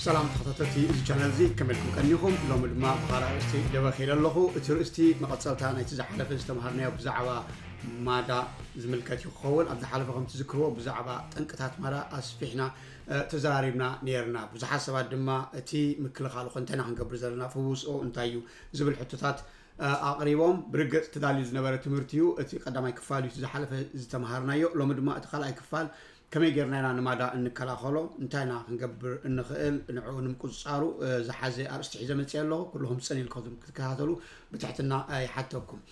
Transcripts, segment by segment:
ሰላም ተኸታተልቲ እዚ ቻነል እዚ፣ ከመይ ኢልኩም ቀኒኹም? ሎሚ ድማ ብኻልእ ኣርእስቲ ደበኺለ ኣለኹ። እቲ ርእስቲ መቐጸልታ ናይቲ ዝሓለፈ ዝተምሃርናዮ ብዛዕባ ማዳ ዝምልከት እዩ ክኸውን። ኣብ ዝሓለፈ ከም ትዝክርዎ ብዛዕባ ጠንቅታት ማዳ ኣስፊሕና፣ እ፣ ተዘራሪብና ነይርና። ብዙሓት ሰባት ድማ እቲ ምክልኻሉ ከ እንታይ ኢና ክንገብር ዘለና፣ ፍውስኦ እንታይ እዩ ዝብል ሕቶታት፣ እ፣ ኣቕሪቦም። ብርግጽ ተዳልዩ ዝነበረ ትምህርቲ እዩ። እቲ ቀዳማይ ክፋል እዩ እቲ ዝሓለፈ ዝተምሃርናዮ። ሎሚ ድማ እቲ ካልኣይ ክፋል ከመይ ጌርና ኢና ንማዳ እንከላኸሎ፣ እንታይ ኢና ክንገብር እንኽእል፣ ንዕኡ ንምቁጽጻሩ፣ እ፣ ዝሓዘ ኣርእስቲ ሒዘ መጽየ ኣለኹ። ኩልኹም ጽን ኢልኩም ክትከታተሉ ብትሕትና፣ እ፣ ይሓተኩም።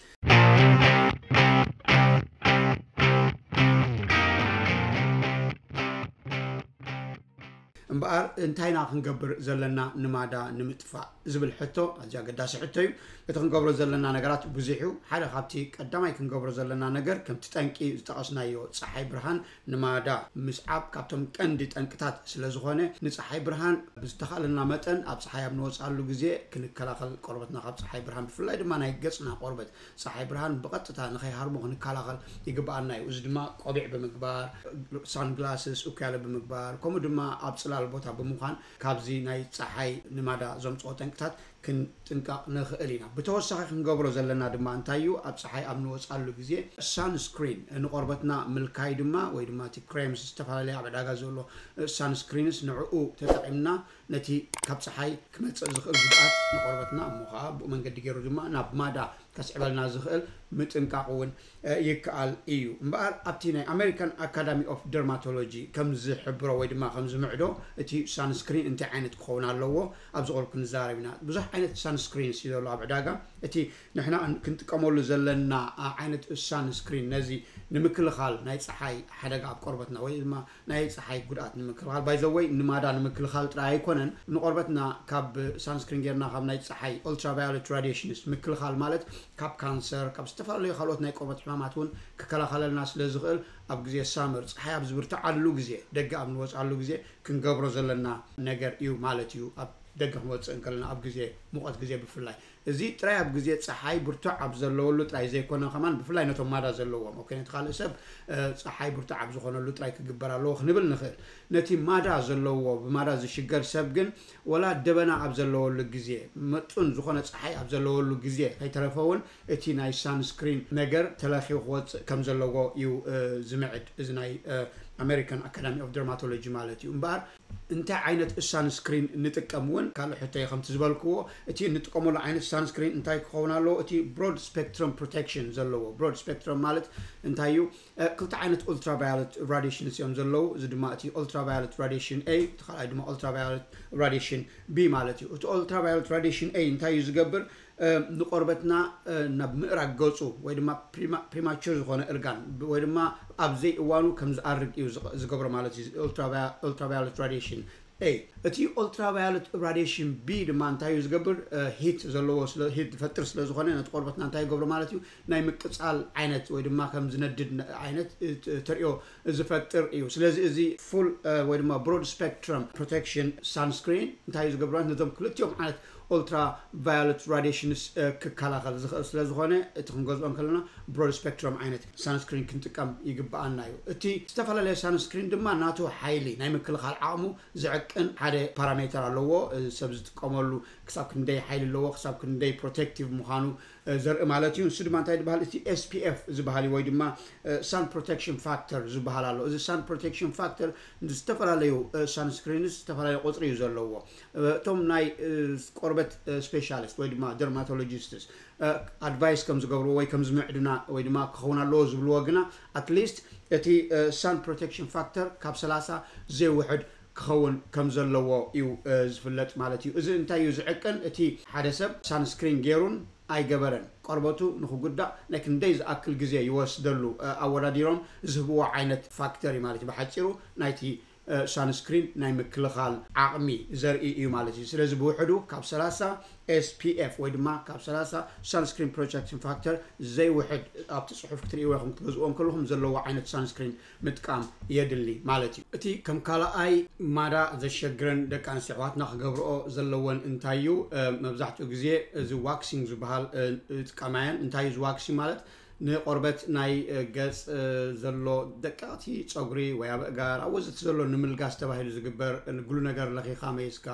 እምበኣር፣ እንታይ ኢና ክንገብር ዘለና ንማዳ ንምጥፋእ ዝብል ሕቶ ኣዝዩ ኣገዳሲ ሕቶ እዩ። እቲ ክንገብሮ ዘለና ነገራት ብዙሕ እዩ። ሓደ ካብቲ ቀዳማይ ክንገብሮ ዘለና ነገር፣ ከምቲ ጠንቂ ዝጠቐስናዮ፣ ጸሓይ ብርሃን ንማዳ ምስዓብ ካብቶም ቀንዲ ጠንቅታት ስለ ዝኾነ፣ ንጸሓይ ብርሃን ብዝተኻእለና መጠን ኣብ ጸሓይ ኣብ ንወጽኣሉ ግዜ ክንከላኸል፣ ቆርበትና ካብ ጸሓይ ብርሃን፣ ብፍላይ ድማ ናይ ገጽና ቆርበት፣ ጸሓይ ብርሃን ብቐጥታ ንኸይሃርሞ ክንከላኸል ይግብኣና እዩ። እዚ ድማ ቆቢዕ ብምግባር፣ ሳንግላስስ፣ እኩያለ ብምግባር፣ ከምኡ ድማ ኣብ ጽላል ቦታ ብምዃን ካብዚ ናይ ጸሓይ ንማዳ ዘምጽኦ ጠንቅታት ክንጥንቀቕ ንኽእል ኢና። ብተወሳኺ ክንገብሮ ዘለና ድማ እንታይ እዩ? ኣብ ጸሓይ ኣብ ንወጽኣሉ ግዜ ሳንስክሪን ንቆርበትና ምልካይ ድማ፣ ወይ ድማ እቲ ክሬምስ፣ ዝተፈላለየ ኣብ ዕዳጋ ዘሎ ሳንስክሪንስ፣ ንዕኡ ተጠቒምና ነቲ ካብ ጸሓይ ክመጽእ ዝኽእል ጉድኣት ንቆርበትና፣ እሞ ኸዓ ብኡ መንገዲ ገይሩ ድማ ናብ ማዳ ከስዕበልና ዝኽእል ምጥንቃቕ እውን፣ እ፣ ይከኣል እዩ። እምበኣር ኣብቲ ናይ ኣሜሪካን ኣካዳሚ ኦፍ ደርማቶሎጂ ከም ዝሕብሮ ወይ ድማ ከም ዝምዕዶ፣ እቲ ሳንስክሪን እንታይ ዓይነት ክኸውን ኣለዎ ኣብዚ ቁሩብ ክንዛረብ ኢና። ብዙሕ ዓይነት ሳንስክሪንስ እዩ ዘሎ ኣብ ዕዳጋ። እቲ ንሕና ን-፣ ክንጥቀመሉ ዘለና፣ ኣ፣ ዓይነት ሳንስክሪን ነዚ ንምክልኻል ናይ ጸሓይ ሓደጋ ኣብ ቆርበትና ወይ ድማ ናይ ጸሓይ ጉድኣት ንምክልኻል፣ ባይ ዘ ወይ ንማዳ ንምክልኻል ጥራይ ኣይኮነን፣ ንቆርበትና ካብ ሳንስክሪን ጌርና ካብ ናይ ጸሓይ ኦልትራቫዮሌት ራዲሽንስ ምክልኻል ማለት ካብ ካንሰር፣ ካብ ዝተፈላለዩ ካልኦት ናይ ቆርበት ሕማማት እውን ክከላኸለልና ስለ ዝኽእል፣ ኣብ ግዜ ሳመር፣ ጸሓይ ኣብ ዝብርትዓሉ ግዜ፣ ደገ ኣብ ንወጽኣሉ ግዜ ክንገብሮ ዘለና ነገር እዩ ማለት እዩ። ኣብ ደገ ክንወጽእ እንከለና፣ ኣብ ግዜ ሙቐት ግዜ ብፍላይ፣ እዚ ጥራይ ኣብ ግዜ ጸሓይ ብርቱዕ ኣብ ዘለወሉ ጥራይ ዘይኮነ፣ ከማን ብፍላይ ነቶም ማዳ ዘለዎም፣ ኦኬ፣ ነቲ ካልእ ሰብ፣ እ፣ ጸሓይ ብርቱዕ ኣብ ዝኾነሉ ጥራይ ክግበር ኣለዎ ክንብል ንኽእል። ነቲ ማዳ ዘለዎ፣ ብማዳ ዝሽገር ሰብ ግን፣ ወላ ደበና ኣብ ዘለወሉ ግዜ፣ መጡን ዝኾነ ጸሓይ ኣብ ዘለወሉ ግዜ ከይተረፈ እውን፣ እቲ ናይ ሳንስክሪን ነገር ተለኽዩ ክወጽእ ከም ዘለዎ እዩ፣ እ፣ ዝምዕድ፣ እዚ ናይ፣ እ፣ ኣሜሪካን ኣካዳሚ ኦፍ ደርማቶሎጂ ማለት እዩ። እምበኣር፣ እንታይ ዓይነት ሳንስክሪን ንጥቀም እውን ካልእ ሕቶ እዩ። ከምቲ ዝበልክዎ፣ እቲ እንጥቀመሉ ዓይነት ሳንስክሪን እንታይ ክኸውን ኣለዎ? እቲ ብሮድ ስፔክትረም ፕሮቴክሽን ዘለዎ። ብሮድ ስፔክትረም ማለት እንታይ እዩ? እ፣ ክልተ ዓይነት ኡልትራቫዮለት ራዲሽንስ እዮም ዘለዉ። እዚ ድማ እቲ ኡልትራቫዮለት ራዲሽን ኤ፣ እቲ ካልኣይ ድማ ኡልትራቫዮለት ራዲሽን ቢ ማለት እዩ። እቲ ኡልትራቫዮለት ራዲሽን ኤ እንታይ እዩ ዝገብር? እ፣ ንቆርበትና፣ እ፣ ናብ ምእራግ ገጹ ወይ ድማ ፕሪማ-፣ ፕሪማቹር ዝኾነ እርጋን ብ-፣ ወይ ድማ ኣብ ዘይእዋኑ ከም ዝኣርግ እዩ ዝቕ-፣ ዝገብሮ ማለት እዩ። ኡልትራቫ-፣ ኡልትራቫዮለት ራዲሽን ኤ። እቲ ኡልትራቫዮለት ራዲሽን ቢ ድማ እንታይ እዩ ዝገብር? እ፣ ሂት ዘለዎ ስለ፣ ሂት ዝፈጥር ስለ ዝኾነ፣ ነቲ ቆርበትና እንታይ ይገብሮ ማለት እዩ? ናይ ምቅጻል ዓይነት ወይ ድማ ከም ዝነድድ ነ-፣ ዓይነት፣ እ፣ ት-፣ ተርእዮ ዝፈጥር እዩ። ስለዚ እዚ ፉል፣ እ፣ ወይ ድማ ብሮድ ስፔክትረም ፕሮቴክሽን ሳንስክሪን እንታይ እዩ ዝገብር? ነዞም ክልቲኦም ዓይነት ኡልትራ ቫዮለት ራዲሽንስ፣ እ፣ ክከላኸል ዝኽእል ስለ ዝኾነ፣ እቲ ክንገዝኦ እንከለና ብሮድ ስፔክትረም ዓይነት ሳንስክሪን ክንጥቀም ይግብኣና እዩ። እቲ ዝተፈላለየ ሳንስክሪን ድማ ናቱ ሓይሊ ናይ ምክልኻል ዓቕሙ ዝዕቅን ሓደ ፓራሜተር ኣለዎ። እ፣ ሰብ ዝጥቀመሉ ክሳብ ክንደይ ሓይሊ ኣለዎ፣ ክሳብ ክንደይ ፕሮቴክቲቭ ምዃኑ፣ እ፣ ዘርኢ ማለት እዩ። ንሱ ድማ እንታይ ዝበሃል? እቲ ኤስ ፒ ኤፍ ዝበሃል እዩ፣ ወይ ድማ፣ እ፣ ሳን ፕሮቴክሽን ፋክተር ዝበሃል ኣሎ። እዚ ሳን ፕሮቴክሽን ፋክተር ንዝተፈላለዩ፣ እ፣ ሳንስክሪንስ ዝተፈላለየ ቁጽሪ እዩ ዘለዎ። እ፣ እቶም ናይ፣ እ፣ ቆርበት፣ እ፣ ስፔሻሊስት ወይ ድማ ደርማቶሎጂስትስ፣ እ፣ ኣድቫይስ ከም ዝገብርዎ ወይ ከም ዝምዕዱና ወይ ድማ ክኸውን ኣለዎ ዝብልዎ ግና፣ ኣትሊስት እቲ፣ እ፣ ሳን ፕሮቴክሽን ፋክተር ካብ ሰላሳ ዘይውሕድ ክኸውን ከም ዘለዎ እዩ፣ እ፣ ዝፍለጥ ማለት እዩ። እዚ እንታይ እዩ ዝዕቅን? እቲ ሓደ ሰብ ሳንስክሪን ገይሩን ኣይገበረን፣ ቆርበቱ ንኽጉዳእ ናይ ክንደይ ዝኣክል ግዜ ይወስደሉ፣ እ፣ ኣወዳዲሮም ዝህብዎ ዓይነት ፋክተር እዩ ማለት እዩ። ብሓጺሩ ናይቲ፣ እ፣ ሳንስክሪን ናይ ምክልኻል ዓቕሚ ዘርኢ እዩ ማለት እዩ። ስለዚ ብውሕዱ ካብ ሰላሳ ኤስ ፒ ኤፍ ወይ ድማ ካብ ሰላሳ ሳንስክሪን ፕሮቴክሽን ፋክተር ዘይውሕድ፣ ኣብቲ ጽሑፍ ክትርእይዎ ኢኹም ክትገዝእዎም ከለኹም ዘለዎ ዓይነት ሳንስክሪን ምጥቃም የድሊ ማለት እዩ። እቲ ከም ካልኣይ ማዳ ዘሸግረን ደቂ ኣንስትዮ ኣሕዋትና ክገብርኦ ዘለወን እንታይ እዩ? እ፣ መብዛሕትኡ ግዜ እዚ ዋክሲንግ ዝበሃል፣ እ፣ ይጥቀማ እየን። እንታይ እዩ እዚ ዋክሲንግ ማለት? ንቆርበት ናይ ገጽ ዘሎ ደቀቕቲ ጸጉሪ ወይ ኣብ እጋር ኣብ ወዘተ ዘሎ ንምልጋስ ተባሂሉ ዝግበር፣ ንግሉ ነገር ለኺኻ መይስካ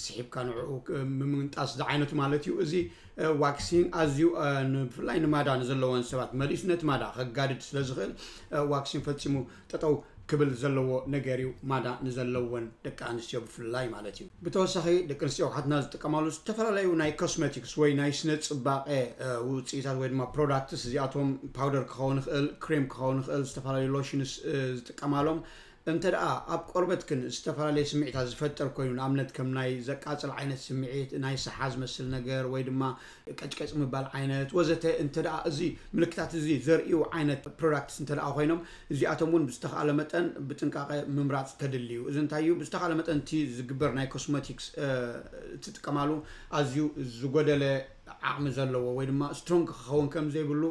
ስሒብካ ንዕኡ ምምንጣስ ዝዓይነቱ ማለት እዩ። እዚ ዋክሲን ኣዝዩ ብፍላይ ንማዳ ንዘለወን ሰባት መሊሱ ነቲ ማዳ ከጋድድ ስለ ዝኽእል ዋክሲን ፈጺሙ ጠጠው ክብል ዘለዎ ነገር እዩ፣ ማዳ ንዘለወን ደቂ ኣንስትዮ ብፍላይ ማለት እዩ። ብተወሳኺ ደቂ ኣንስትዮ ኣሕዋትና ዝጥቀማሉ ዝተፈላለዩ ናይ ኮስሜቲክስ ወይ ናይ ስነ ጽባቐ ውፅኢታት ወይ ድማ ፕሮዳክትስ፣ እዚኣቶም ፓውደር ክኸውን ይኽእል፣ ክሬም ክኸውን ይኽእል፣ ዝተፈላለዩ ሎሽንስ ዝጥቀማሎም እንተ ደኣ ኣብ ቆርበትክን ዝተፈላለየ ስምዒታት ዝፈጥር ኮይኑ፣ ንኣብነት ከም ናይ ዘቃጽል ዓይነት ስምዒት፣ ናይ ሰሓ ዝመስል ነገር ወይ ድማ ቀጭቀጭ ምባል ዓይነት ወዘተ እንተ ደኣ እዚ ምልክታት እዚ ዘርእዩ ዓይነት ፕሮዳክትስ እንተ ደኣ ኮይኖም፣ እዚኣቶም እውን ብዝተኻእለ መጠን ብጥንቃቐ ምምራፅ ከድሊ እዩ። እዚ እንታይ እዩ? ብዝተኻእለ መጠን እቲ ዝግበር ናይ ኮስሞቲክስ እትጥቀማሉ ኣዝዩ ዝጎደለ ዓቕሚ ዘለዎ ወይ ድማ ስትሮንግ ክኸውን ከም ዘይብሉ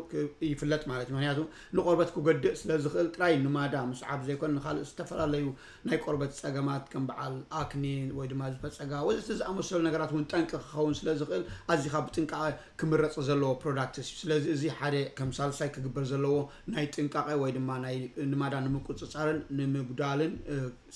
ይፍለጥ ማለት እዩ። ምክንያቱ ንቆርበት ክጎድእ ስለ ዝኽእል ጥራይ ንማዳ ምስዓብ ዘይኮነ ንካልእ ዝተፈላለዩ ናይ ቆርበት ጸገማት ከም በዓል ኣክኒ ወይ ድማ ዝፈጸጋ ወዘተ ዝኣመሰሉ ነገራት እውን ጠንቂ ክኸውን ስለ ዝኽእል ኣዚኻ ብጥንቃቐ ክምረጽ ዘለዎ ፕሮዳክትስ እዩ። ስለዚ እዚ ሓደ ከም ሳልሳይ ክግበር ዘለዎ ናይ ጥንቃቐ ወይ ድማ ናይ ንማዳ ንምቁጽጻርን ንምጉዳልን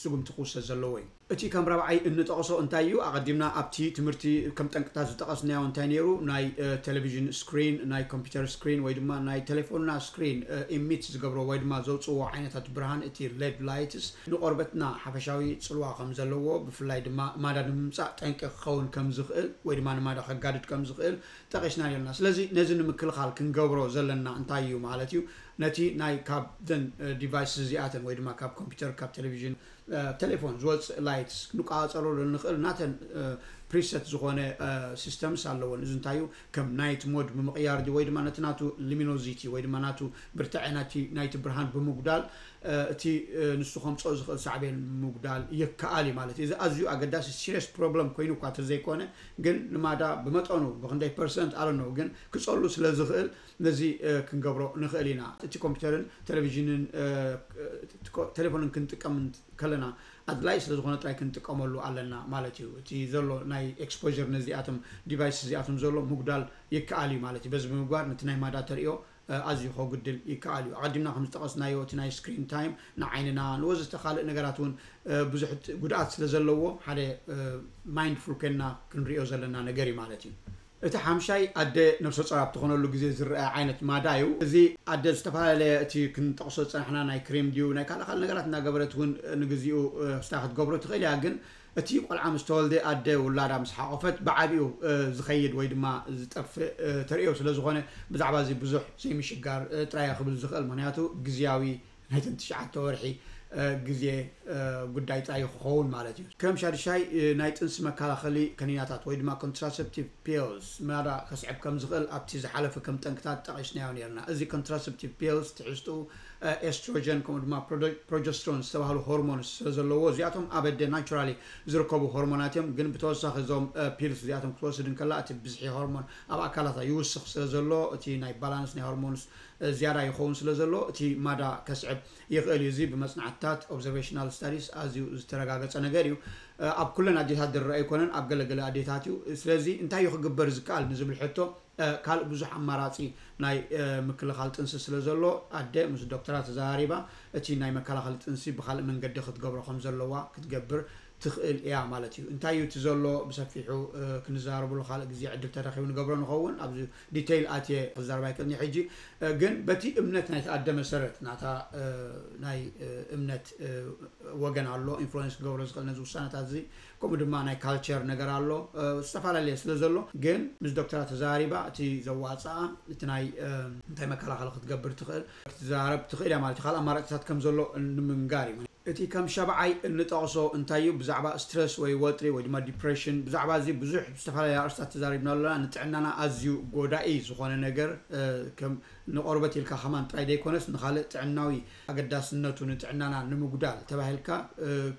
ስጉምቲ ክውሰድ ዘለዎ እዩ። እቲ ከም ራብዓይ እንጠቕሶ እንታይ እዩ? ኣቐዲምና ኣብቲ ትምህርቲ ከም ጠንቅታት ዝጠቐስናዮ እንታይ ነይሩ? ናይ ቴሌቪዥን ስክሪን፣ ናይ ኮምፒውተር ስክሪን ወይ ድማ ናይ ቴሌፎንና ስክሪን ኢሚት ዝገብሮ ወይ ድማ ዘውፅዎ ዓይነታት ብርሃን፣ እቲ ሌድ ላይትስ ንቆርበትና ሓፈሻዊ ፅልዋ ከም ዘለዎ፣ ብፍላይ ድማ ማዳ ንምምፃእ ጠንቂ ክኸውን ከም ዝኽእል ወይ ድማ ንማዳ ከጋድድ ከም ዝኽእል ጠቒስና ነርና። ስለዚ ነዚ ንምክልኻል ክንገብሮ ዘለና እንታይ እዩ ማለት እዩ? ነቲ ናይ ካብ ዘን ዲቫይስ እዚኣተን ወይ ድማ ካብ ኮምፒውተር፣ ካብ ቴሌቪዥን፣ ቴሌፎን ዝወፅእ ላይትስ ክንቋፀረሉ ንኽእል ናተን ፕሪሰት ዝኾነ ሲስተምስ ኣለዎን። እዚ እንታይ እዩ? ከም ናይት ሞድ ብምቕያር ድዩ ወይ ድማ ነቲ ናቱ ሉሚኖዚቲ ወይ ድማ ናቱ ብርትዐ ናይቲ ናይቲ ብርሃን ብምጉዳል እቲ ንሱ ከምፅኦ ዝኽእል ሳዕቤን ምጉዳል ይከኣል እዩ ማለት እዩ። እዚ ኣዝዩ ኣገዳሲ ሲሪየስ ፕሮብለም ኮይኑ እኳ እንተዘይኮነ ግን ንማዳ ብመጠኑ ብክንደይ ፐርሰንት ኣለነው ግን ክፀሉ ስለ ዝኽእል ነዚ ክንገብሮ ንኽእል ኢና። እቲ ኮምፒውተርን ቴሌቪዥንን ቴሌፎንን ክንጥቀም ከለና ኣድላይ ስለ ዝኾነ ጥራይ ክንጥቀመሉ ኣለና ማለት እዩ። እቲ ዘሎ ናይ ኤክስፖር ነዚኣቶም ዲቫይስ እዚኣቶም ዘሎ ምጉዳል ይከኣል እዩ ማለት እዩ። በዚ ብምግባር ነቲ ናይ ማዳ ተርእዮ ኣዝዩ ከጉድል ይከኣል እዩ። ኣቐዲምና ከም ዝጠቐስናዮ እቲ ናይ ስክሪን ታይም ንዓይንና ንወዘተ ካልእ ነገራት እውን ብዙሕ ጉድኣት ስለ ዘለዎ ሓደ ማይንድፉል ኮይንና ክንሪኦ ዘለና ነገር እዩ ማለት እዩ። እቲ ሓምሻይ ኣደ ነብሰ ጾር ኣብ ትኾነሉ ግዜ ዝረኣ ዓይነት ማዳ እዩ። እዚ ኣደ ዝተፈላለየ እቲ ክንጠቕሶ ዝጸናሕና ናይ ክሬም ድዩ ናይ ካልእ ካልእ ነገራት እናገበረት እውን ንግዚኡ ስታ ክትገብሮ ትኽእል እያ። ግን እቲ ቆልዓ ምስ ተወልደ ኣደ ውላዳ ምስ ሓቆፈት ብዓቢኡ ዝኸይድ ወይ ድማ ዝጠፍእ ተርእዮ ስለ ዝኾነ ብዛዕባ እዚ ብዙሕ ዘይምሽጋር ጥራይ ክብል ዝኽእል። ምክንያቱ ግዝያዊ ናይተን ትሽዓተ ወርሒ ግዜ ጉዳይ ጥራይ ክኸውን ማለት እዩ። ከም ሻድሻይ ናይ ጥንሲ መከላኸሊ ከኒናታት ወይ ድማ ኮንትራሰፕቲቭ ፒልስ ማዳ ከስዕብ ከም ዝኽእል ኣብቲ ዝሓለፈ ከም ጠንቅታት ጠቒስናዮ ነርና። እዚ ኮንትራሰፕቲቭ ፒልስ ትሕዝትኡ ኤስትሮጀን ከምኡ ድማ ፕሮጀስትሮን ዝተባህሉ ሆርሞንስ ስለ ዘለዎ እዚኣቶም ኣብ ኣደ ናቹራሊ ዝርከቡ ሆርሞናት እዮም። ግን ብተወሳኺ እዞም ፒልስ እዚኣቶም ክትወስድ እንከላ እቲ ብዝሒ ሆርሞን ኣብ ኣካላታ ይውስኽ ስለ ዘሎ እቲ ናይ ባላንስ ናይ ሆርሞንስ ዝያዳ ይኸውን ስለ ዘሎ እቲ ማዳ ከስዕብ ይኽእል እዩ። እዚ ብመጽናዕትታት ኦብዘርቬሽናል ስታዲስ ኣዝዩ ዝተረጋገጸ ነገር እዩ። ኣብ ኩለን ኣዴታት ዝረአ ኣይኮነን፣ ኣብ ገለገለ ኣዴታት እዩ። ስለዚ እንታይ እዩ ክግበር ዝከኣል ንዝብል ሕቶ ካልእ ብዙሕ ኣማራጺ ናይ ምክልኻል ጥንሲ ስለ ዘሎ ኣደ ምስ ዶክተራ ተዘራሪባ እቲ ናይ መከላኸሊ ጥንሲ ብኻልእ መንገዲ ክትገብሮ ከም ዘለዋ ክትገብር ትኽእል እያ ማለት እዩ። እንታይ እዩ እቲ ዘሎ ብሰፊሑ ክንዛረብሉ ካልእ ግዜ ዕድል ተረኺቡ ንገብሮ ንኸውን። ኣብዚ ዲቴይል ኣትየ ክዛረብ ኣይክእልን ሕጂ። ግን በቲ እምነት ናይቲ ኣደ መሰረት ናታ ናይ እምነት ወገን ኣሎ ኢንፍሉዌንስ ክገብሮ ዝኽእል ነዚ ውሳነታት እዚ። ከምኡ ድማ ናይ ካልቸር ነገር ኣሎ። ዝተፈላለየ ስለ ዘሎ ግን ምስ ዶክተራ ተዛሪባ እቲ ዘዋፅኣ እቲ ናይ እንታይ መከላኸሊ ክትገብር ትኽእል ክትዛረብ ትኽእል እያ ማለት እዩ። ካልእ ኣማራጭታት ከም ዘሎ ንምንጋር እዩ። እቲ ከም ሻብዓይ እንጠቕሶ እንታይ እዩ? ብዛዕባ ስትረስ ወይ ወጥሪ ወይ ድማ ዲፕሬሽን፣ ብዛዕባ እዚ ብዙሕ ዝተፈላለያ ኣርእስታት ተዛሪብና ኣለና። ንጥዕናና ኣዝዩ ጎዳኢ ዝኾነ ነገር ከም ንቆርበት ኢልካ ከማን ጥራይ ዘይኮነስ ንኻልእ ጥዕናዊ ኣገዳስነቱ ንጥዕናና ንምጉዳል ተባሂልካ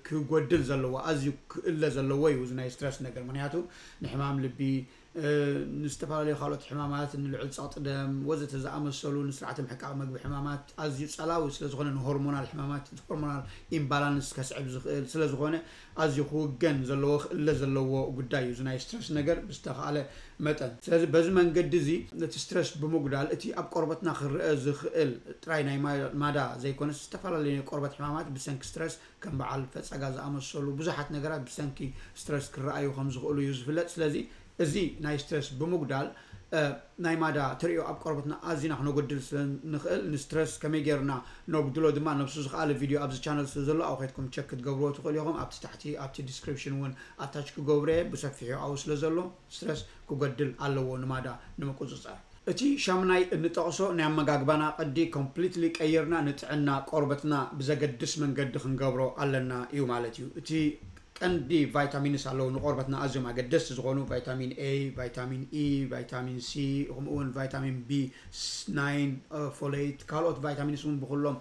ክጎድል ዘለዎ ኣዝዩ ክእለ ዘለዎ እዩ እዚ ናይ ስትረስ ነገር። ምክንያቱ ንሕማም ልቢ ንዝተፈላለዩ ካልኦት ሕማማት፣ ንልዑል ጸቕጢ ደም ወዘተ ዝኣመሰሉ፣ ንስርዓተ ምሕቃቕ መግቢ ሕማማት ኣዝዩ ጸላዊ ስለ ዝኾነ፣ ንሆርሞናል ሕማማት፣ ሆርሞናል ኢምባላንስ ከስዕብ ዝኽእል ስለ ዝኾነ፣ ኣዝዩ ክውገን ዘለዎ፣ ክእለ ዘለዎ ጉዳይ እዩ እዚ ናይ ስትረስ ነገር ብዝተኻእለ መጠን። ስለዚ በዚ መንገዲ እዚ ነቲ ስትረስ ብምጉዳል እቲ ኣብ ቆርበትና ክረአ ዝኽእል ጥራይ ናይ ማ- ማዳ ዘይኮነስ ዝተፈላለዩ ናይ ቆርበት ሕማማት ብሰንኪ ስትረስ ከም በዓል ፈጸጋ ዝኣመሰሉ ብዙሓት ነገራት ብሰንኪ ስትረስ ክረኣዩ ከም ዝኽእሉ እዩ ዝፍለጥ። ስለዚ እዚ ናይ ስትረስ ብምጉዳል ናይ ማዳ ተርእዮ ኣብ ቆርበትና ኣዚና ክነጎድል ስለ ንኽእል ንስትረስ ከመይ ጌርና ነጉድሎ ድማ ነብሱ ዝኸኣለ ቪድዮ ኣብዚ ቻነል ስለ ዘሎ ኣብኡ ከድኩም ቸክ ክትገብርዎ ትኽእሉ ኢኹም። ኣብቲ ታሕቲ ኣብቲ ዲስክሪፕሽን እውን ኣታች ክገብሮ እየ ብሰፊሑ ኣብኡ ስለ ዘሎ ስትረስ ክጎድል ኣለዎ ንማዳ ንምቁፅፃር። እቲ ሻምናይ እንጠቕሶ ናይ ኣመጋግባና ቅዲ ኮምፕሊትሊ ቀይርና ንጥዕና ቆርበትና ብዘገድስ መንገዲ ክንገብሮ ኣለና እዩ ማለት እዩ። እቲ ቀንዲ ቫይታሚንስ ኣለዉ ንቆርበትና ኣዝዮም ኣገደስቲ ዝኾኑ ቫይታሚን A፣ ቫይታሚን E፣ ቫይታሚን C፣ ከምኡ እውን ቫይታሚን ቢ ናይን፣ ፎሌት፣ ካልኦት ቫይታሚንስ እውን ብኩሎም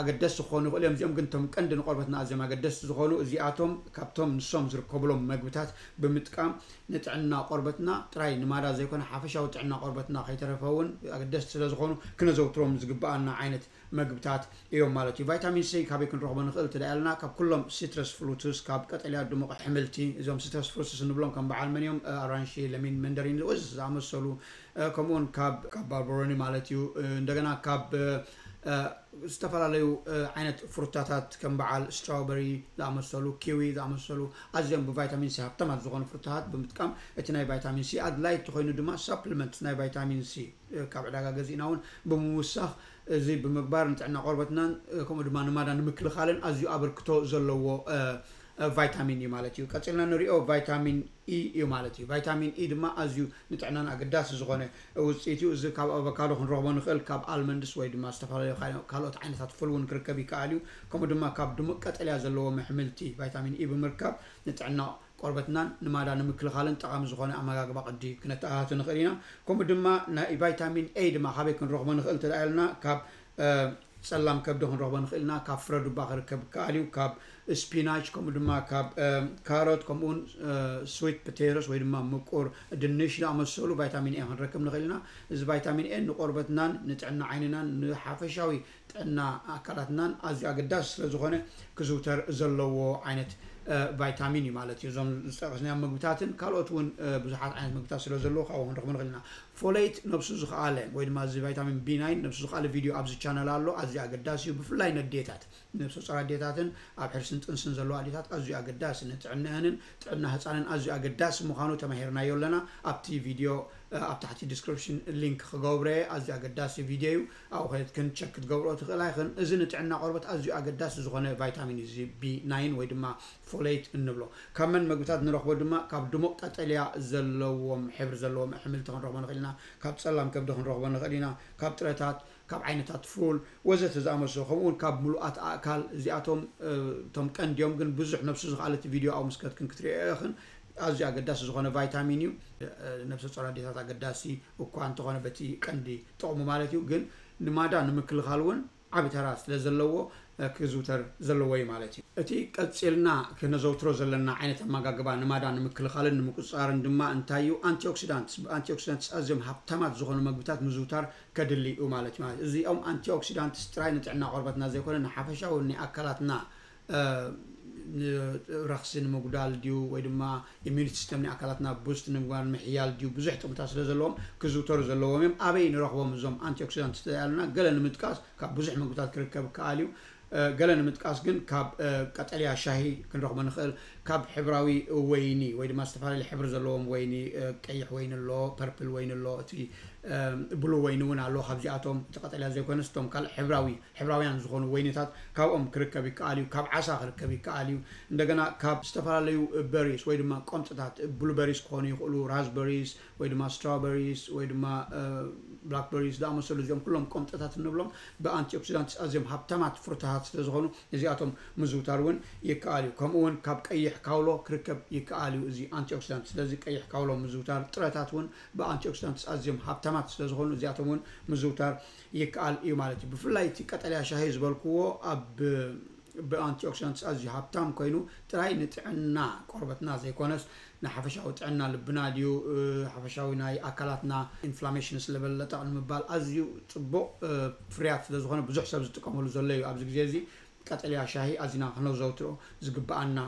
ኣገደስቲ ክኾኑ ይኽእሉ እዮም። እዚኦም ግን እቶም ቀንዲ ንቆርበትና ኣዝዮም ኣገደስቲ ዝኾኑ እዚኣቶም ካብቶም ንሶም ዝርከብሎም መግብታት ብምጥቃም ንጥዕና ቆርበትና ጥራይ ንማዳ ዘይኮነ ሓፈሻዊ ጥዕና ቆርበትና ከይተረፈ እውን ኣገደስቲ ስለ ዝኾኑ ክነዘውትሮም ዝግብኣና ዓይነት መግብታት እዮም ማለት እዩ። ቫይታሚን ሲ ካበይ ክንረኽቦ ንኽእል ትዳ ያልና ካብ ኩሎም ሲትረስ ፍሩትስ ካብ ቀጠልያ ድሙቕ ኣሕምልቲ እዞም ሲትረስ ፍሩትስ እንብሎም ከም በዓል መን እዮም? ኣራንሺ፣ ለሚን፣ መንደሪን ወዘተ ዝኣመሰሉ ከምኡውን ካብ ካብ ባርበሮኒ ማለት እዩ። እንደገና ካብ ዝተፈላለዩ ዓይነት ፍሩታታት ከም በዓል ስትራውበሪ ዝኣመሰሉ፣ ኪዊ ዝኣመሰሉ ኣዝዮም ብቫይታሚን ሲ ሃብታማት ዝኾኑ ፍሩታታት ብምጥቃም እቲ ናይ ቫይታሚን ሲ ኣድላይ እንተኾይኑ ድማ ሳፕሊመንት ናይ ቫይታሚን ሲ ካብ ዕዳጋ ገዚእና እውን ብምውሳኽ እዚ ብምግባር ንጥዕና ቆርበትናን ከምኡ ድማ ንማዳ ንምክልኻልን ኣዝዩ ኣበርክቶ ዘለዎ ቫይታሚን እዩ ማለት እዩ። ቀፂልና ንሪኦ ቫይታሚን ኢ እዩ ማለት እዩ። ቫይታሚን ኢ ድማ ኣዝዩ ንጥዕናን ኣገዳሲ ዝኾነ ውፅኢት እዩ። እዚ ካብ ኣቮካዶ ክንረኽቦ ንኽእል፣ ካብ ኣልመንድስ ወይ ድማ ዝተፈላለዩ ካልኦት ዓይነታት ፍል እውን ክርከብ ይከኣል እዩ። ከምኡ ድማ ካብ ድሙቕ ቀጠልያ ዘለዎም ኣሕምልቲ ቫይታሚን ኢ ብምርካብ ንጥዕና ቆርበትናን ንማዳ ንምክልኻልን ጠቓሚ ዝኾነ ኣመጋግባ ቅዲ ክነተኣታቱ ንኽእል ኢና። ከምኡ ድማ ናይ ቫይታሚን ኤ ድማ ካበይ ክንረኽቦ ንኽእል እንተ ኢልና ካብ ጸላም ከብዲ ክንረኽቦ ንኽእል ኢና። ካብ ፍረ ዱባ ክርከብ ይከኣል እዩ። ካብ ስፒናች ከምኡ ድማ ካብ ካሮት ከምኡውን ስዊት ፖቴቶስ ወይ ድማ ምቁር ድንሽ ዝኣመሰሉ ቫይታሚን ኤ ክንረክብ ንኽእል ኢና። እዚ ቫይታሚን ኤ ንቆርበትናን ንጥዕና ዓይንናን ንሓፈሻዊ ጥዕና ኣካላትናን ኣዝዩ ኣገዳሲ ስለ ዝኾነ ክዝውተር ዘለዎ ዓይነት ቫይታሚን እዩ ማለት እዩ። እዞም ዝጠቀስናዮም ምግብታትን ካልኦት እውን ብዙሓት ዓይነት ምግብታት ስለ ዘለዎ ካብኡ ክንረኽቦ ንኽእል ኢና። ፎሌት ነብሱ ዝኸኣለ ወይ ድማ እዚ ቫይታሚን ቢ ናይን ነብሱ ዝኸኣለ ቪድዮ ኣብዚ ቻነል ኣሎ። ኣዝዩ ኣገዳሲ እዩ። ብፍላይ ነዴታት ነብሰ ጾር ኣዴታትን ኣብ ሕርስን ጥንስን ዘለዋ ኣዴታት ኣዝዩ ኣገዳሲ ንጥዕንአንን ጥዕና ህፃንን ኣዝዩ ኣገዳሲ ምዃኑ ተማሂርናዮ ኣለና። ኣብቲ ቪድዮ ኣብ ታሕቲ ዲስክሪፕሽን ሊንክ ክገብሮ እየ። ኣዝዩ ኣገዳሲ ቪድዮ እዩ። ኣብኡ ከድክን ቸክ ክትገብርኦ ትኽእላ ኢኽን። እዚ ንጥዕና ቆርበት ኣዝዩ ኣገዳሲ ዝኾነ ቫይታሚን እዩ። እዚ ቢ ናይን ወይ ድማ ፎሌት እንብሎ ካብ መን መግብታት ንረኽቦ ድማ ካብ ድሙቕ ቀጠልያ ዘለዎም ሕብሪ ዘለዎም ኣሕምልቲ ክንረኽቦ ንኽእል ኢና። ካብ ጸላም ከብዲ ክንረኽቦ ንኽእል ኢና። ካብ ጥረታት ካብ ዓይነታት ፉል ወዘተ ዝኣመሰሉ ከምኡ እውን ካብ ምሉኣት ኣእካል እዚኣቶም እቶም ቀንዲዮም ግን ብዙሕ ነብሱ ዝኸኣለት ቪድዮ ኣብ ምስከትክን ክትሪኦ ኢኽን። ኣዝዩ ኣገዳሲ ዝኾነ ቫይታሚን እዩ። ነብሰ ጾር ኣዴታት ኣገዳሲ እኳ እንተኾነ በቲ ቀንዲ ጥቕሙ ማለት እዩ ግን ንማዳ ንምክልኻል እውን ዓቢ ተራ ስለ ዘለዎ ክዝውተር ዘለዎ እዩ ማለት እዩ። እቲ ቀጺልና ክነዘውትሮ ዘለና ዓይነት ኣመጋግባ ንማዳ ንምክልኻልን ንምቁጽጻርን ድማ እንታይ እዩ? ኣንቲኦክሲዳንትስ። ብኣንቲኦክሲዳንትስ ኣዝዮም ሃብታማት ዝኾኑ መግብታት ምዝውታር ከድሊ እዩ ማለት እዩ። ማለት እዚኦም ኣንቲኦክሲዳንትስ ጥራይ ንጥዕና ቆርበትና ዘይኮነ ንሓፈሻዊ ናይ ኣካላትና ረኽሲ ንምጉዳል ድዩ ወይ ድማ ኢሚዩኒቲ ሲስተም ናይ ኣካላትና ቡስት ንምግባር ምሕያል ድዩ ብዙሕ ጥቕምታት ስለ ዘለዎም ክዝውተሩ ዘለዎም እዮም። ኣበይ ንረኽቦም እዞም ኣንቲኦክሲዳንት ያሉና ገለ ንምጥቃስ ካብ ብዙሕ ምግብታት ክርከብ ይከኣል እዩ። ገለ ንምጥቃስ ግን ካብ ቀጠልያ ሻሂ ክንረኽቦ ንኽእል፣ ካብ ሕብራዊ ወይኒ ወይ ድማ ዝተፈላለዩ ሕብሪ ዘለዎም ወይኒ፣ ቀይሕ ወይኒ ኣሎ፣ ፐርፕል ወይኒ ኣሎ፣ እቲ ብሉ ወይኒ እውን ኣሎ። ካብዚኣቶም እቲ ቀጠልያ ዘይኮነስ እቶም ካልእ ሕብራዊ ሕብራውያን ዝኾኑ ወይኒታት ካብኦም ክርከብ ይከኣል እዩ። ካብ ዓሳ ክርከብ ይከኣል እዩ። እንደገና ካብ ዝተፈላለዩ በሪስ ወይ ድማ ቆምጥታት ብሉበሪስ ክኾኑ ይኽእሉ፣ ራዝበሪስ ወይ ድማ ስትራበሪስ ወይ ድማ ብላክበሪስ ዝኣመሰሉ እዚኦም ኩሎም ቆምጥታት እንብሎም ብኣንቲኦክሲዳንትስ ኣዝዮም ሃብታማት ፍሩታታት ስለ ዝኾኑ እዚኣቶም ምዝውታር እውን ይከኣል እዩ። ከምኡ እውን ካብ ቀይሕ ካውሎ ክርከብ ይከኣል እዩ እዚ ኣንቲኦክሲዳንት። ስለዚ ቀይሕ ካውሎ ምዝውታር፣ ጥረታት እውን ብኣንቲኦክሲዳንትስ ኣዝዮም ሃብታማት ስለ ዝኾኑ እዚኣቶም እውን ምዝውታር ይከኣል እዩ ማለት እዩ። ብፍላይ እቲ ቀጠልያ ሻሂ ዝበልክዎ ኣብ ብኣንቲኦክሲዳንትስ ኣዝዩ ሃብታም ኮይኑ ጥራይ ንጥዕና ቆርበትና ዘይኮነስ ንሓፈሻዊ ጥዕና ልብና ድዩ ሓፈሻዊ ናይ ኣካላትና ኢንፍላሜሽንስ ለበል ለጠቕ ንምባል ኣዝዩ ፅቡቅ ፍርያት ስለዝኾነ ብዙሕ ሰብ ዝጥቀመሉ ዘሎ እዩ ኣብዚ ግዜ እዚ። ቀጠልያ ሻሂ ኣዚና ክነዘውትሮ ዝግብኣና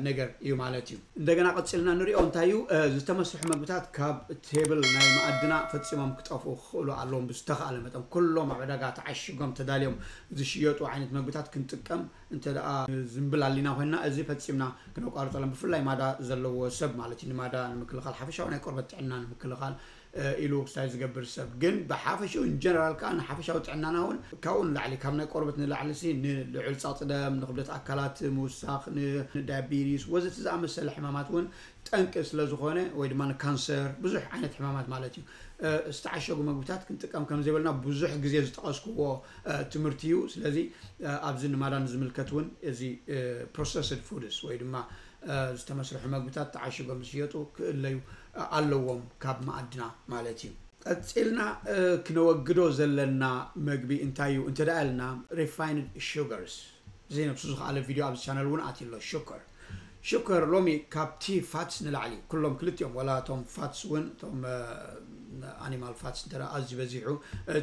ነገር እዩ ማለት እዩ። እንደገና ቀፂልና ንሪኦ እንታይ እዩ፣ ዝተመስርሑ መግብታት ካብ ቴብል ናይ መኣድና ፈፂሞም ክጠፍኡ ክኽእሉ ኣለዎም። ብዝተኽኣለ መጠን ኩሎም ኣብ ዕዳጋ ተዓሽጎም ተዳልዮም ዝሽየጡ ዓይነት መግብታት ክንጥቀም እንተ ደኣ ዝንብል ኣሊና ኮይንና እዚ ፈፂምና ክነቋርፀሎም፣ ብፍላይ ማዳ ዘለዎ ሰብ ማለት እዩ። ንማዳ ንምክልኻል ሓፈሻዊ ናይ ቆርበት ጥዕና ንምክልኻል ኢሉ ክስታይ ዝገብር ሰብ ግን ብሓፈሽኡ ኢንጀነራል ከዓ ንሓፈሻዊ ጥዕናና እውን ካብኡ ንላዕሊ ካብ ናይ ቆርበት ንላዕሊ ሲ ንልዑል ፃፅደም ንክብደት ኣካላት ምውሳኽ ንዳያቢቲስ ወዘተ ዝኣመሰለ ሕማማት እውን ጠንቂ ስለዝኾነ ወይ ድማ ንካንሰር ብዙሕ ዓይነት ሕማማት ማለት እዩ ዝተዓሸጉ መግብታት ክንጥቀም ከምዘይበልና ብዙሕ ግዜ ዝጠቐስክዎ ትምህርቲ እዩ። ስለዚ ኣብዚ ንማዳን ዝምልከት እውን እዚ ፕሮሰስድ ፉድስ ወይ ድማ ዝተመስርሑ መግብታት ተዓሽጎም ዝሽየጡ ክእለዩ ኣለዎም ካብ መኣድና ማለት እዩ። ቀፂልና ክነወግዶ ዘለና መግቢ እንታይ እዩ እንተ ደኣ ኢልና ሪፋይንድ ሹገርስ እዚ ነብሱ ዝኸኣለ ቪድዮ ኣብዚ ቻነል እውን ኣትዩ ኣሎ ሽኮር ሽኮር ሎሚ ካብቲ ፋትስ ንላዕሊ ኩሎም ክልቲኦም ዋላ እቶም ፋትስ እውን እቶም ኣኒማል ፋትስ እንተ ኣዝዩ በዚሑ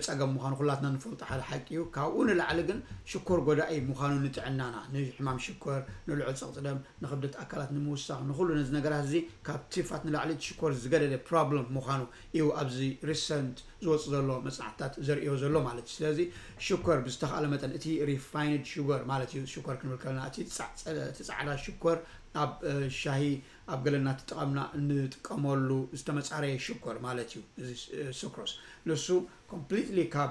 ፀገም ምዃኑ ኩላትና ንፈልጦ ሓደ ሓቂ እዩ። ካብኡ ንላዕሊ ግን ሽኮር ጎዳኢ ምዃኑ ንጥዕናና ንሕማም ሽኮር ንልዑል ፀቕጢ ደም ንክብደት ኣካላት ንምውሳኽ ንኩሉ ነዚ ነገራት እዚ ካብ ቲፋት ንላዕሊ ሽኮር ዝገደደ ፕሮብለም ምዃኑ እዩ ኣብዚ ሪሰንት ዝወፅ ዘሎ መፅናዕትታት ዘርእዮ ዘሎ ማለት እዩ። ስለዚ ሽኮር ብዝተኽኣለ መጠን እቲ ሪፋይንድ ሽጎር ማለት እዩ ሽኮር ክንብል ከለና እቲ ፃዕዳ ሽኮር ኣብ ሻሂ ኣብ ገለ እናተጠቐምና እንጥቀመሉ ዝተመፃረየ ሽኮር ማለት እዩ። እዚ ሱክሮስ ንሱ ኮምፕሊትሊ ካብ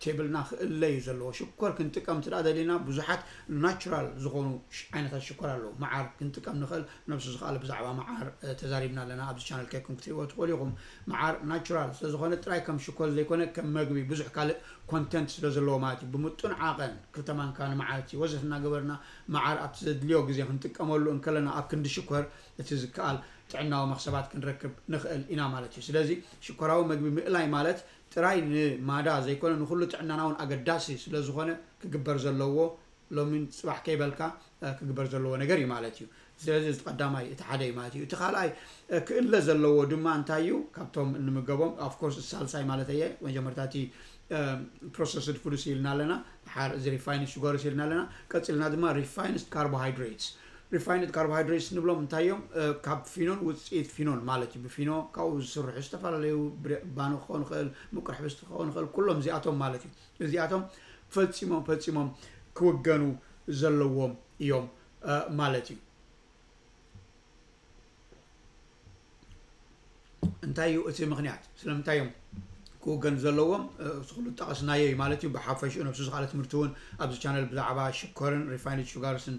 ቴብልና ክእለ እዩ ዘለዎ። ሽኮር ክንጥቀም ትዳ ደሊና ብዙሓት ናቹራል ዝኾኑ ዓይነታት ሽኮር ኣለዉ። መዓር ክንጥቀም ንኽእል ነብሱ ዝኽኣለ ብዛዕባ መዓር ተዛሪብና ኣለና ኣብዚ ቻነል ከይኩም ክትሪእዎ ትኽእሉ ኢኹም። መዓር ናቹራል ስለዝኾነ ጥራይ ከም ሽኮር ዘይኮነ ከም መግቢ ብዙሕ ካልእ ኮንተንት ስለዘለዎ ማለት እዩ። ብምጡን ዓቐን ክልተ ማንካ ንመዓልቲ ወዘት እናገበርና መዓር ኣብቲ ዘድልዮ ግዜ ክንጥቀመሉ እንከለና ኣብ ክንዲ ሽኮር እቲ ዝከኣል ጥዕናዊ መኽሰባት ክንረክብ ንኽእል ኢና ማለት እዩ። ስለዚ ሽኮራዊ መግቢ ምእላይ ማለት ጥራይ ንማዳ ዘይኮነ ንኹሉ ጥዕናና እውን ኣገዳሲ ስለዝኾነ ክግበር ዘለዎ ሎሚን ፅባሕ ከይበልካ ክግበር ዘለዎ ነገር እዩ ማለት እዩ። ስለዚ እዚ ቀዳማይ እቲ ሓደ እዩ ማለት እዩ። እቲ ካልኣይ ክእለ ዘለዎ ድማ እንታይ እዩ ካብቶም እንምገቦም ኣፍኮርስ ሳልሳይ ማለት እየ መጀመርታ እቲ ፕሮሰስድ ፉድስ ኢልና ኣለና፣ ድሓር እዚ ሪፋይንድ ሽጎርስ ኢልና ኣለና። ቀፂልና ድማ ሪፋይንድ ካርቦሃይድሬትስ ሪፋይንድ ካርቦሃይድሬትስ ንብሎም እንታይ እዮም? ካብ ፊኖን ውፅኢት ፊኖን ማለት እዩ። ብፊኖ ካብኡ ዝስርሑ ዝተፈላለዩ ባኖ ክኸውን ይኽእል፣ ምቁር ሕብስቲ ክኸውን ይኽእል፣ ኩሎም እዚኣቶም ማለት እዩ። እዚኣቶም ፈፂሞም ፈፂሞም ክውገኑ ዘለዎም እዮም ማለት እዩ። እንታይ እዩ እቲ ምኽንያት? ስለምንታይ እዮም ክውገኑ ዘለዎም? እቲ ኩሉ ጠቐስናዮ እዩ ማለት እዩ። ብሓፈሽኡ ነብሱ ዝኻለ ትምህርቲ እውን ኣብዚ ቻነል ብዛዕባ ሽኮርን ሪፋይንድ ሹጋርስን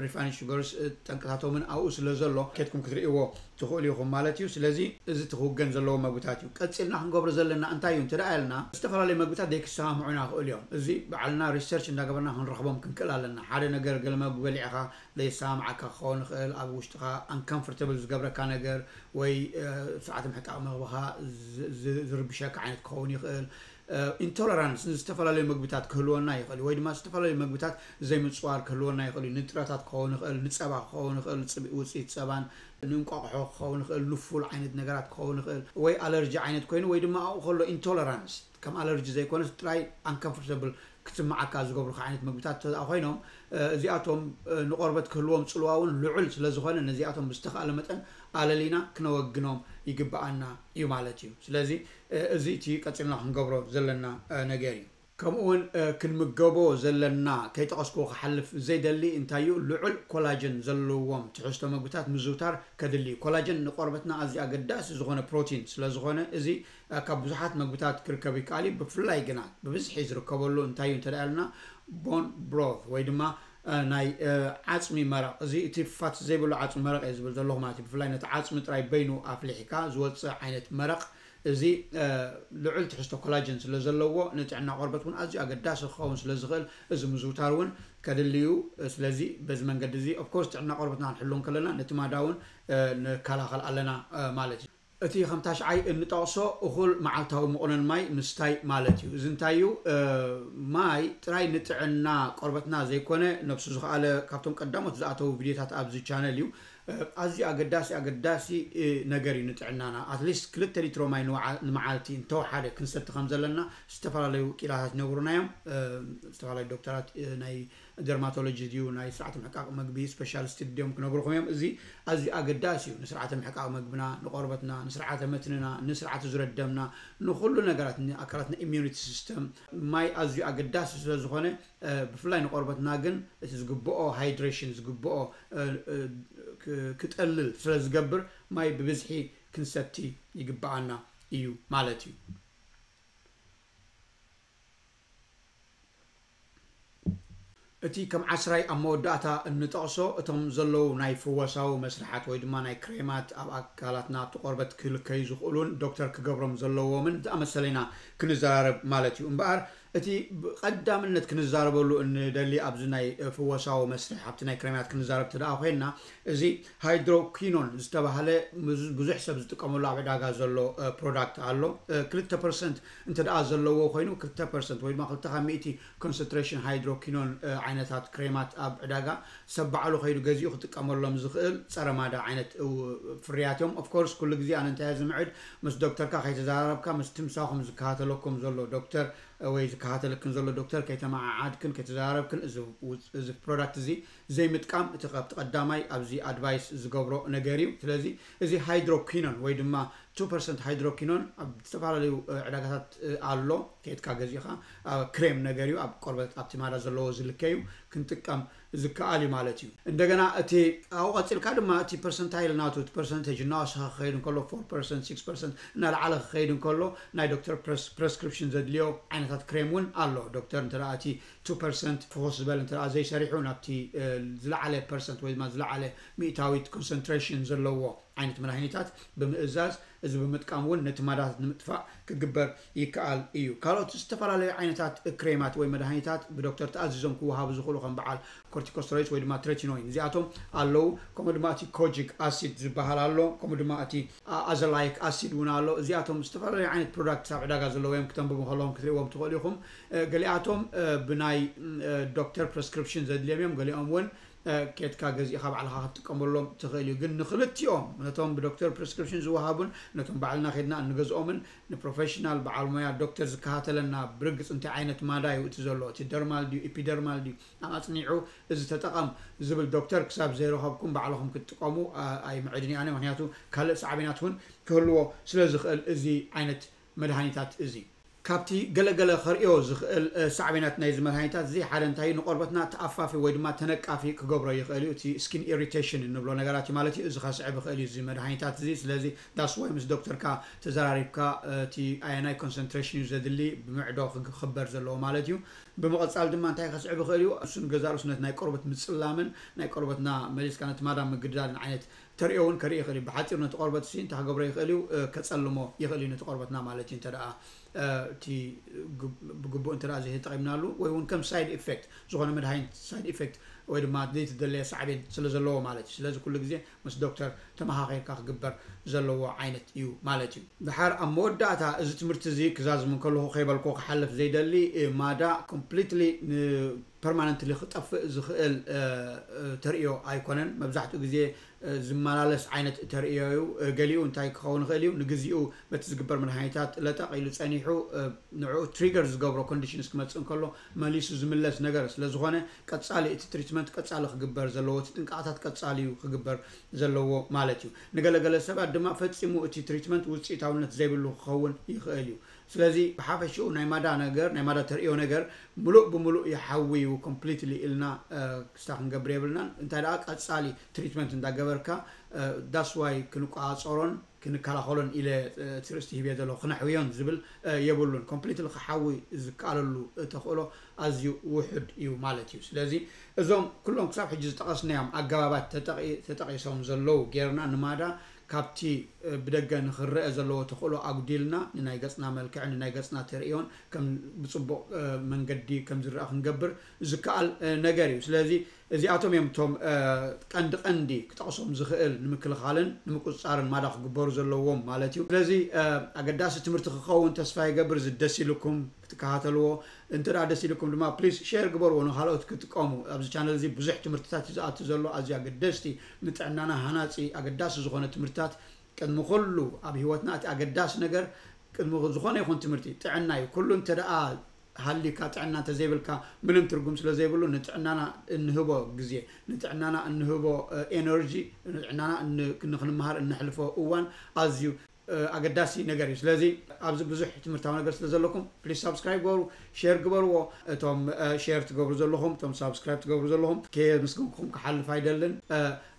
ሪፋይንድ ሹገርስ ጠንቅታቶምን ኣብኡ ስለ ዘሎ ኬድኩም ክትርእይዎ ትኽእሉ ኢኹም ማለት እዩ። ስለዚ እዚ እቲ ክውገን ዘለዎ መግብታት እዩ። ቀፂልና ክንገብሮ ዘለና እንታይ እዩ እንተ ደኣ ኢልና ዝተፈላለዩ መግብታት ዘይክሰማምዑና ይኽእሉ እዮም። እዚ ባዕልና ሪሰርች እንዳገበርና ክንረኽቦም ክንክእል ኣለና። ሓደ ነገር ገለ መግቢ በሊዕኻ ዘይሰማምዓካ ክኸውን ይኽእል፣ ኣብ ውሽጥኻ ኣንካምፎርተብል ዝገብረካ ነገር ወይ ስርዓተ ምሕቃቕ መግብኻ ዝርብሸካ ዓይነት ክኸውን ይኽእል። ኢንቶለራንስ ንዝተፈላለዩ መግብታት ክህልወና ይኽእል ወይ ድማ ዝተፈላለዩ መግብታት ዘይምፅዋር ክህልወና ይኽእል እዩ። ንጥረታት ክኸውን ይኽእል፣ ንፀባ ክኸውን ይኽእል፣ ውፅኢት ፀባን ንእንቋቑሖ ክኸውን ይኽእል፣ ንፉል ዓይነት ነገራት ክኸውን ይኽእል ወይ ኣለርጂ ዓይነት ኮይኑ ወይ ድማ ኣብኡ ከሎ ኢንቶለራንስ ከም ኣለርጂ ዘይኮነስ ጥራይ ኣንከምፎርተብል ክትስምዓካ ዝገብሩካ ዓይነት ምግብታት እንተ ኮይኖም እዚኣቶም ንቆርበት ክህልዎም ፅልዋ እውን ልዑል ስለዝኾነ ነዚኣቶም ብዝተኽኣለ መጠን ኣለሊና ክነወግኖም ይግብኣና እዩ ማለት እዩ። ስለዚ እዚ እቲ ቀፂልና ክንገብሮ ዘለና ነገር እዩ። ከምኡ እውን ክንምገቦ ዘለና ከይጠቐስኩ ክሓልፍ ዘይደሊ እንታይ እዩ ልዑል ኮላጅን ዘለዎም ትሕዝቶ ምግብታት ምዝውታር ከድሊ እዩ። ኮላጅን ንቆርበትና ኣዝዩ ኣገዳሲ ዝኾነ ፕሮቲን ስለዝኾነ እዚ ካብ ብዙሓት መግብታት ክርከብ ይከኣል እዩ። ብፍላይ ግና ብብዝሒ ዝርከበሉ እንታይ እዩ እንተ ኢልና ቦን ብሮት ወይ ድማ ናይ ዓፅሚ መረቕ እዚ እቲ ፋት ዘይብሉ ዓፅሚ መረቕ እየ ዝብል ዘለኹ ማለት እዩ። ብፍላይ ነቲ ዓፅሚ ጥራይ በይኑ ኣፍሊሕካ ዝወፅእ ዓይነት መረቕ እዚ ልዑል ትሕዝቶ ኮላጅን ስለ ዘለዎ ንጥዕና ቆርበት እውን ኣዝዩ ኣገዳሲ ክኸውን ስለ ዝኽእል እዚ ምዝውታር እውን ከድልዩ። ስለዚ በዚ መንገዲ እዚ ኦፍኮርስ ጥዕና ቆርበትና ክንሕሉ እንከለና ነቲ ማዳ እውን ንከላኸል ኣለና ማለት እዩ። እቲ ከም ታሽዓይ እንጠቕሶ እኹል መዓልታዊ መቑነን ማይ ምስታይ ማለት እዩ። እዚ እንታይ እዩ? ማይ ጥራይ ንጥዕና ቆርበትና ዘይኮነ፣ ነብሱ ዝኸኣለ ካብቶም ቀዳሞት ዝኣተዉ ቪድዮታት ኣብዚ ቻነል እዩ። ኣዝዩ ኣገዳሲ ኣገዳሲ ነገር እዩ ንጥዕናና። ኣትሊስት ክልተ ሊትሮ ማይ ንመዓልቲ እንተወሓደ ክንሰቲ ከም ዘለና ዝተፈላለዩ ኪላታት ይነግሩና እዮም። ዝተፈላለዩ ዶክተራት፣ ናይ ደርማቶሎጂ ድዩ ናይ ስርዓተ ምሕቃቕ መግቢ ስፔሻሊስት ድዮም ክነግርኹም እዮም። እዚ ኣዝዩ ኣገዳሲ እዩ። ንስርዓተ ምሕቃቕ መግብና፣ ንቆርበትና፣ ንስርዓተ መትንና፣ ንስርዓተ ዙረት ደምና፣ ንኹሉ ነገራት፣ ንኣካላትና ኢሚዩኒቲ ሲስተም ማይ ኣዝዩ ኣገዳሲ ስለ ዝኾነ፣ ብፍላይ ንቆርበትና ግን እቲ ዝግብኦ ሃይድሬሽን ዝግብኦ ክጠልል ስለ ዝገብር ማይ ብብዝሒ ክንሰቲ ይግብኣና እዩ ማለት እዩ። እቲ ከም ዓስራይ ኣብ መወዳእታ እንጠቕሶ እቶም ዘለዉ ናይ ፍወሳዊ መስርሓት ወይ ድማ ናይ ክሬማት ኣብ ኣካላትና ኣብቲ ቆርበት ክልከዩ ዝኽእሉን ዶክተር ክገብሮም ዘለዎምን ዝኣመሰለ ኢና ክንዘራረብ ማለት እዩ። እምበኣር እቲ ብቐዳምነት ክንዛረበሉ እንደሊ ኣብዚ ናይ ፍወሳዊ መስርሕ ኣብቲ ናይ ክሬማት ክንዛረብ ተደኣ ኮይንና እዚ ሃይድሮኪኖን ዝተባህለ ብዙሕ ሰብ ዝጥቀመሉ ኣብ ዕዳጋ ዘሎ ፕሮዳክት ኣሎ። ክልተ ፐርሰንት እንተ ደኣ ዘለዎ ኮይኑ ክልተ ፐርሰንት ወይ ድማ ክልተ ካብ ሚእቲ ኮንሰንትሬሽን ሃይድሮኪኖን ዓይነታት ክሬማት ኣብ ዕዳጋ ሰብ ባዕሉ ከይዱ ገዚኡ ክጥቀመሎም ዝኽእል ጸረ ማዳ ዓይነት ፍርያት እዮም። ኦፍኮርስ ኩሉ ግዜ ኣነ እንታይ ዝምዕድ ምስ ዶክተርካ ከይተዘራረብካ ምስ ትምሳኹም ዝከታተለኩም ዘሎ ዶክተር ወይ ዝከታተለክን ዘሎ ዶክተር ከይተመዓዓድክን ከይተዘራረብክን እዚ ፕሮዳክት እዚ ዘይምጥቃም እቲ ካብቲ ቀዳማይ ኣብዚ ኣድቫይስ ዝገብሮ ነገር እዩ። ስለዚ እዚ ሃይድሮኪኖን ወይ ድማ ቱ ፐርሰንት ሃይድሮኪኖን ኣብ ዝተፈላለዩ ዕዳጋታት ኣሎ። ከይድካ ገዚእኻ ክሬም ነገር እዩ። ኣብ ቆርበት ኣብቲ ማዳ ዘለዎ ዝልከ እዩ። ክንጥቀም ዝከኣል እዩ ማለት እዩ። እንደገና እቲ ኣብኡ ቀፂልካ ድማ እቲ ፐርሰንታይል ናቱ እቲ ፐርሰንቴጅ እናወሰኸ ክኸይድ እንከሎ ፎር ፐርሰንት ሲክስ ፐርሰንት እናለዓለ ክኸይድ እንከሎ ናይ ዶክተር ፕረስክሪፕሽን ዘድልዮ ዓይነታት ክሬም እውን ኣሎ። ዶክተር እንተ እቲ ቱ ፐርሰንት ፍኹስ ዝበለ እንተ ዘይሰሪሑ ናብቲ ዝለዓለ ፐርሰንት ወይ ድማ ዝለዓለ ሚእታዊት ኮንሰንትሬሽን ዘለዎ ዓይነት መድሃኒታት ብምእዛዝ፣ እዚ ብምጥቃም እውን ነቲ ማዳታት ንምጥፋእ ክግበር ይከኣል እዩ። ካልኦት ዝተፈላለዩ ዓይነታት ክሬማት ወይ መድሃኒታት ብዶክተር ተኣዚዞም ክወሃቡ ዝኽእሉ ከም በዓል ኮርቲኮስተሮይድስ ወይ ድማ ትሬቲኖይን እዚኣቶም ኣለዉ። ከምኡ ድማ እቲ ኮጂክ ኣሲድ ዝበሃል ኣሎ። ከምኡ ድማ እቲ ኣዘላይክ ኣሲድ እውን ኣሎ። እዚኣቶም ዝተፈላለዩ ዓይነት ፕሮዳክትስ ኣብ ዕዳጋ ዘለዉ እዮም። ክተንብቡ ከለኹም ክትርእይዎም ትኽእሉ ኢኹም። ገሊኣቶም ብናይ ዶክተር ፕረስክሪፕሽን ዘድልዮም እዮም። ገሊኦም እውን ኬድካ ገዚእኻ ባዕልኻ ክትጥቀመሎም ትኽእል እዩ። ግን ንኽልቲኦም ነቶም ብዶክተር ፕሪስክሪፕሽን ዝወሃቡን ነቶም ባዕልና ኬድና እንገዝኦምን ንፕሮፌሽናል በዓል ሞያ ዶክተር ዝከታተለና ብርግፅ እንታይ ዓይነት ማዳ እዩ እቲ ዘሎ፣ እቲ ደርማል ድዩ ኢፒደርማል ድዩ ኣፅኒዑ እዚ ተጠቐም ዝብል ዶክተር ክሳብ ዘይረኸብኩም ባዕልኹም ክትጥቀሙ ኣይምዕድን እየ ኣነ። ምክንያቱ ካልእ ሳዕቤናት እውን ክህልዎ ስለ ዝኽእል እዚ ዓይነት መድሃኒታት እዚ ካብቲ ገለገለ ከርእዮ ዝኽእል ሳዕቤናት ናይዚ መድሃኒታት እዚ ሓደ እንታይ እዩ? ንቆርበትና ተኣፋፊ ወይ ድማ ተነቃፊ ክገብሮ ይኽእል እዩ። እቲ ስኪን ኢሪቴሽን እንብሎ ነገራት እዩ ማለት እዩ። እዚ ከስዕብ ይኽእል እዩ እዚ መድሃኒታት እዚ። ስለዚ that's why ምስ ዶክተርካ ተዘራሪብካ እቲ ኣየናይ ኮንሰንትሬሽን እዩ ዘድሊ ብምዕዶ ክኽበር ዘለዎ ማለት እዩ። ብምቕፃል ድማ እንታይ ከስዕብ ይኽእል እዩ? እሱን ገዛ ርእሱ ነቲ ናይ ቆርበት ምፅላምን ናይ ቆርበትና መሊስካ ነቲ ማዳ ምግዳልን ዓይነት ተርእዮ እውን ከርኢ ይኽእል እዩ። ብሓፂሩ ነቲ ቆርበት ሲ እንታይ ክገብሮ ይኽእል እዩ? ከፀልሞ ይኽእል እዩ ነቲ ቆርበትና ማለት እዩ። እንተ ደኣ እቲ ብግቡእ እንተ ደኣ ዘይተጠቒምናሉ ወይ እውን ከም ሳይድ ኢፌክት ዝኾነ መድሃኒት ሳይድ ኢፌክት ወይ ድማ ዘይተደለየ ሳዕቤን ስለ ዘለዎ ማለት እዩ። ስለዚ ኩሉ ግዜ ምስ ዶክተር ተመኻኺርካ ክግበር ዘለዎ ዓይነት እዩ ማለት እዩ። ድሓር ኣብ መወዳእታ እዚ ትምህርቲ እዚ ክዛዝም እንከለኹ ከይበልኮ ክሓልፍ ዘይደሊ ማዳ ኮምፕሊትሊ ፐርማነንትሊ ክጠፍእ ዝኽእል ተርእዮ ኣይኮነን። መብዛሕትኡ ግዜ ዝመላለስ ዓይነት ተርእዮ እዩ። ገሊኡ እንታይ ክኸውን ይኽእል እዩ? ንግዚኡ በቲ ዝግበር መድሃኒታት ለጠቕ ኢሉ ጸኒሑ ንዕኡ ትሪገር ዝገብሮ ኮንዲሽንስ ክመጽእ እንከሎ መሊሱ ዝምለስ ነገር ስለ ዝኾነ ቀጻሊ እቲ ትሪትመንት ቀጻሊ ክግበር ዘለዎ እቲ ጥንቃቕታት ቀጻሊ እዩ ክግበር ዘለዎ ማለት እዩ። ንገለገለ ሰባት ድማ ፈጺሙ እቲ ትሪትመንት ውጽኢታውነት ዘይብሉ ክኸውን ይኽእል እዩ። ስለዚ ብሓፈሽኡ ናይ ማዳ ነገር ናይ ማዳ ተርእዮ ነገር ምሉእ ብምሉእ ይሓዊ እዩ ኮምፕሊትሊ ኢልና ክስታ ክንገብር የብልናን። እንታይ ደኣ ቀጻሊ ትሪትመንት እንዳገበርካ that's why ክንቆጻጸሮን ክንከላኸሎን ኢለ እቲ ርእስቲ ሂብዮ ዘለኹ ክነሕውዮን ዝብል የብሉን። ኮምፕሊትሊ ክሓዊ ዝከኣለሉ ተኽእሎ ኣዝዩ ውሑድ እዩ ማለት እዩ። ስለዚ እዞም ኩሎም ክሳብ ሕጂ ዝጠቐስናዮም ኣገባባት ተጠቒሶም ዘለዉ ጌርና ንማዳ ካብቲ ብደገ ንኽረአ ዘለዎ ተኽእሎ ኣጉዲልና ንናይ ገጽና መልክዕን ንናይ ገጽና ተርእዮን ከም ብጽቡቕ መንገዲ ከም ዝረኣ ክንገብር ዝከኣል ነገር እዩ። ስለዚ እዚኣቶም እዮም እቶም ቀንዲ ቀንዲ ክጠቕሶም ዝኽእል ንምክልኻልን ንምቁፅፃርን ማዳ ክግበሩ ዘለዎም ማለት እዩ። ስለዚ ኣገዳሲ ትምህርቲ ክኸውን ተስፋ ይገብር። እዚ ደስ ኢልኩም ክትከታተልዎ፣ እንተ ደኣ ደስ ኢልኩም ድማ ፕሊስ ሼር ግበርዎ ንካልኦት ክጥቀሙ። ኣብዚ ቻነል እዚ ብዙሕ ትምህርትታት እዩ ዝኣቱ ዘሎ፣ ኣዝዩ ኣገደስቲ ንጥዕናና ሃናፂ ኣገዳሲ ዝኾነ ትምህርትታት። ቅድሚ ኩሉ ኣብ ህይወትና እቲ ኣገዳሲ ነገር ቅድሚ ዝኾነ ይኹን ትምህርቲ ጥዕና እዩ። ኩሉ እንተ ደኣ ሃልዩካ ጥዕና እንተዘይብልካ ምንም ትርጉም ስለ ዘይብሉ ንጥዕናና እንህቦ ግዜ፣ ንጥዕናና እንህቦ ኤነርጂ፣ ንጥዕናና ንክንመሃር እነሕልፎ እዋን ኣዝዩ ኣገዳሲ ነገር እዩ። ስለዚ ኣብዚ ብዙሕ ትምህርታዊ ነገር ስለ ዘለኩም ፕሊስ ሳብስክራይብ ገበሩ፣ ሼር ግበርዎ። እቶም ሼር ትገብሩ ዘለኹም፣ እቶም ሳብስክራይብ ትገብሩ ዘለኹም ከየመስገንኩም ክሓልፍ ኣይደልን።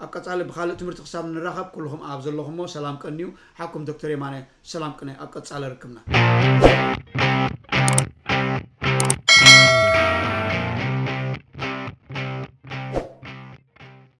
ኣብ ቀፃሊ ብካልእ ትምህርቲ ክሳብ ንራኸብ ኩልኹም ኣብ ዘለኹሞ ሰላም ቀንዩ። ሓኩም ዶክተር የማነ ሰላም ቅነ ኣብ ቀፃሊ ርክብና።